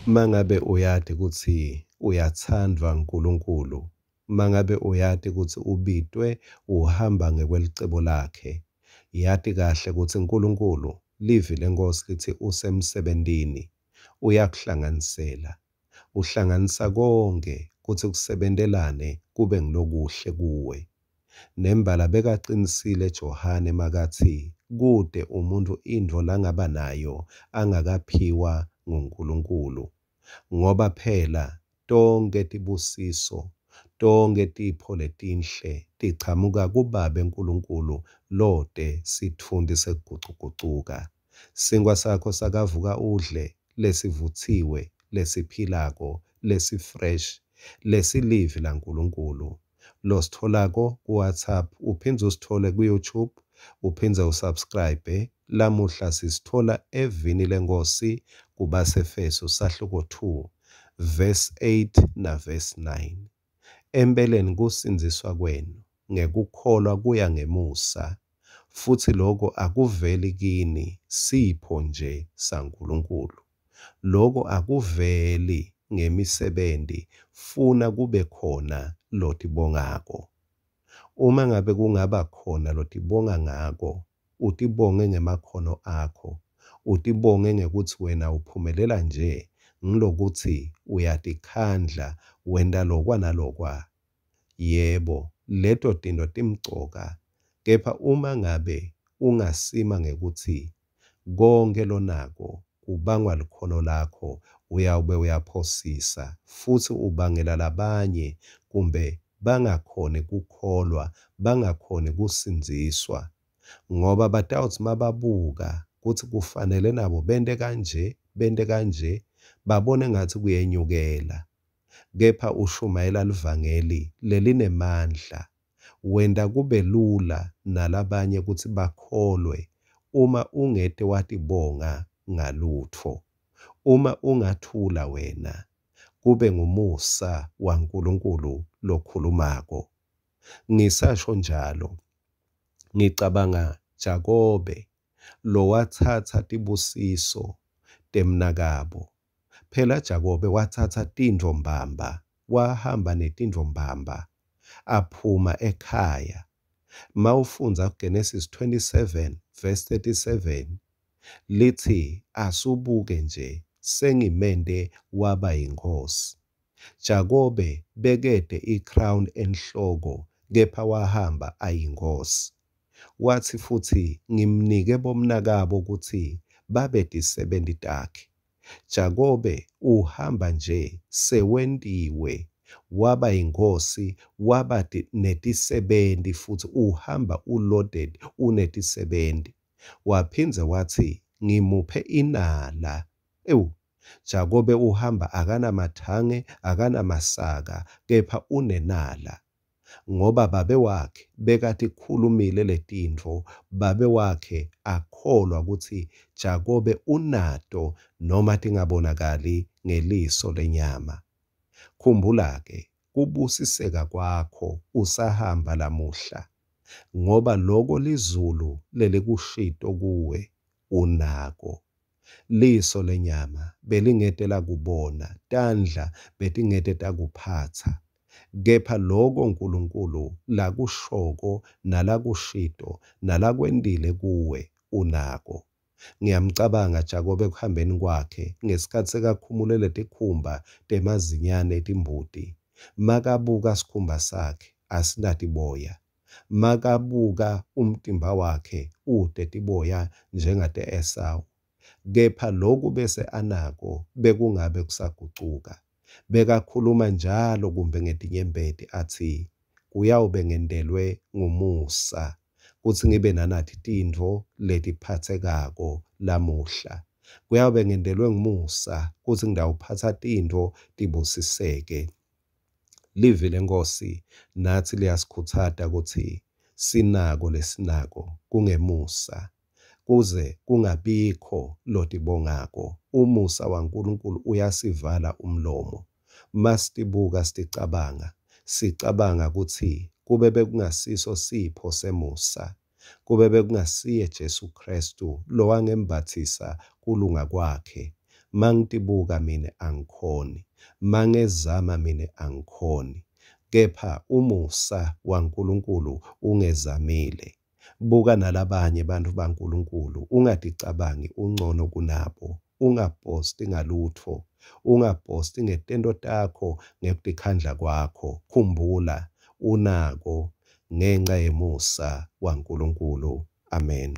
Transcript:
Mangabe uyati kutsi uyatsandvwa nguNkulunkulu, mangabe uyati kutsi ubitwe uhamba ngekwelicebo lakhe, yati kahle kutsi Nkulunkulu, livi leNkhosi litsi usemsebentini, uyakuhlanganisela. Uhlanganisa konkhe kutsi kusebentelane kube ngulokuhle kuwe. Nembala bekacinisile Johane makatsi kute umuntfu intfo langaba nayo angakaphiwa nguNkulunkulu. Ngoba phela tonkhe tibusiso, tonkhe tipho letinhle tichamuka kuBabe Nkulunkulu lote sitfunti sekugucugucuka. Sinkhwa sakho sakavuka udle lesivutsiwe, lesiphilako, lesi-fresh, lesilivi laNkulunkulu lositfolako ku-WhatsApp uphindze usithole ku-YouTube uphindze u-subscribe. Lamuhla sisitfola evini leNkhosi kubaseFeso sahluko 2 verse 8 na verse 9. Empeleni kusindziswa kwenu ngekukholwa kuya ngemusa, futsi loko akuveli kini, sipho nje saNkulunkulu. Loko akuveli ngemisebenti, funa kube khona lotibongako. Uma ngabe kungaba khona lotibonga ngako, utibonge ngemakhono akho, utibonge ngekutsi wena uphumelela nje ngilokutsi uyatikhandla wenta lokwa nalokwa. Yebo, leto tintfo timcoka, kepha uma ngabe ungasima ngekutsi konkhe lonako kubangwa likhono lakho, uyawube uyaphosisa futsi ubangela labanye kumbe bangakhoni kukholwa, bangakhoni kusindziswa ngoba batawutsi mababuka kutsi kufanele nabo bente kanje, bente kanje, babone ngatsi kuyenyukela. Kepha ushumayela livangeli lelinemandla, wenta kube lula nalabanye kutsi bakholwe uma ungete watibonga ngalutfo. Uma ungathula wena, kube ngumusa waNkulunkulu lokhulumako. Ngisasho njalo, ngicabanga Jakobe lowatsatsa tibusiso temnakabo. Phela Jakobe watsatsa tintfo mbamba, wahamba netintfo mbamba aphuma ekhaya. Mawufundza Genesis 27 verse 37 litsi asubuke nje sengimente waba yinkhosi. Jakobe bekete i-crown enhloko kepha wahamba ayinkhosi. Watsi futsi ngimnike bomnakabo kutsi babe tisebenti takhe. Jakobe uhamba nje sewentiwe waba yinkhosi, waba netisebenti futsi uhamba u-loaded unetisebenti. Waphindze watsi ngimuphe inala. Ewu, Jakobe uhamba akanamathange, akanamasaka, kepha unenala ngoba babe wakhe bekatikhulumile letintfo, babe wakhe akholwa kutsi Jakobe unato noma tingabonakali ngeliso lenyama. Khumbula-ke kubusiseka kwakho usahamba lamuhla, ngoba loko lizulu lelikushito kuwe unako. Liso lenyama belingete lakubona, tandla betingete takuphatsa, kepha loko Nkulunkulu lakushoko nalakushito nalakwentile kuwe unako. Ngiyamcabanga Jakobe ekuhambeni kwakhe ngesikhatsi sekakhumule letikhumba temazinyane etimbuti, makabuka sikhumba sakhe asinatiboya, makabuka umtimba wakhe ute tiboya njengate-Esawu. Kepha loku bese anako bekungabe kusagucuka. Bekakhuluma njalo kumbe ngetinyembeti atsi, kuyawube ngentelwe ngumusa kutsi ngibe nanathi tintfo letiphatsekako lamuhla. Kuyawube ngentelwe ngumusa kutsi ngitawuphatsa tintfo tibusiseke. Livi leNkhosi natsi liyasikhutsata kutsi sinako lesinako kungemusa, kuze kungabikho lotibongako. Umusa waNkulunkulu uyasivala umlomo. Masitibuka siticabanga, sicabanga kutsi kube bekungasiso sipho semusa, kube bekungasiye Jesu Khristu lowangembatsisa kulunga kwakhe, Mangitibuka mine angikhoni. Mangezama mine angikhoni. Kepha umusa waNkulunkulu ungezamile. Buka nalabanye bantfu baNkulunkulu ungaticabangi uncono kunabo. Ungaposti ngalutfo. Ungaposti ngetento takho ngekutikhandla kwakho. Khumbula unako ngenca yemusa waNkulunkulu. Amen.